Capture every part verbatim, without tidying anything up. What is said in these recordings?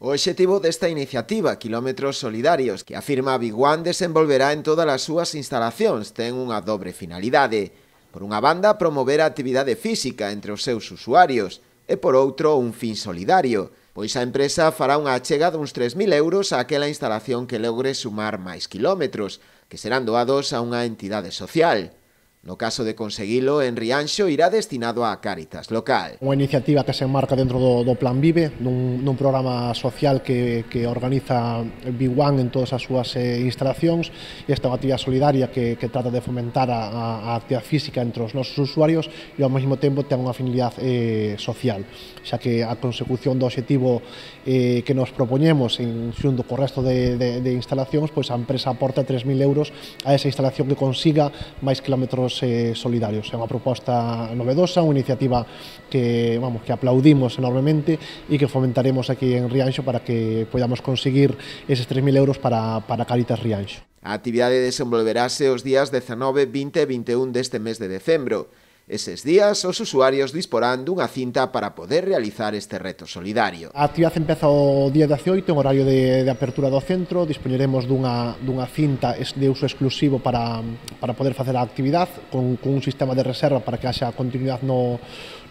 O obxectivo desta iniciativa, Quilómetros Solidarios, que afirma Big One desenvolverá en todas as súas instalacións, ten unha dobre finalidade. Por unha banda, promover a actividade física entre os seus usuarios e, por outro, un fin solidario, pois a empresa fará unha achega duns tres mil euros a aquela instalación que logre sumar máis quilómetros, que serán doados a unha entidade social. No caso de conseguilo, en Rianxo irá destinado á Cáritas local. Unha iniciativa que se enmarca dentro do, do Plan Vive, nun, nun programa social que, que organiza Big One en todas as súas eh, instalacións, e esta é unha actividade solidaria que, que trata de fomentar a, a actividade física entre os nosos usuarios e ao mesmo tempo ten unha finalidade eh, social, xa que a consecución do obxectivo eh, que nos propoñemos en xunto co resto de, de, de instalacións, pois a empresa aporta tres mil euros a esa instalación que consiga máis quilómetros Eh, solidarios. É unha proposta novedosa, unha iniciativa que, vamos, que aplaudimos enormemente e que fomentaremos aquí en Rianxo para que podamos conseguir eses tres mil euros para, para Cáritas Rianxo. A actividade desenvolverase os días dezanove, vinte e vinte e un deste mes de decembro. Eses días, os usuarios disporán dunha cinta para poder realizar este reto solidario. A actividade empeza o día dezioito, en horario de, de apertura do centro. Dispoñeremos dunha, dunha cinta de uso exclusivo para, para poder facer a actividade, con, con un sistema de reserva para que haxa continuidade no,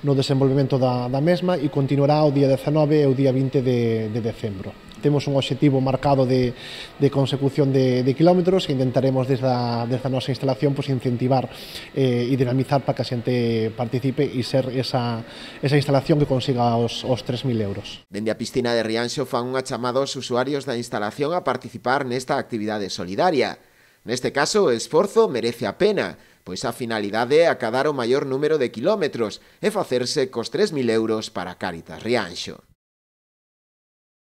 no desenvolvemento da, da mesma, e continuará o día dezanove e o día vinte de, de decembro. Temos un obxectivo marcado de, de consecución de, de kilómetros e intentaremos desde a, desde a nosa instalación pues, incentivar eh, e dinamizar para que a xente participe e ser esa, esa instalación que consiga os, os tres mil euros. Dende a piscina de Rianxo fan unha chamada aos usuarios da instalación a participar nesta actividade solidaria. Neste caso, o esforzo merece a pena, pois a finalidade é acadar o maior número de kilómetros e facerse cos tres mil euros para Cáritas Rianxo.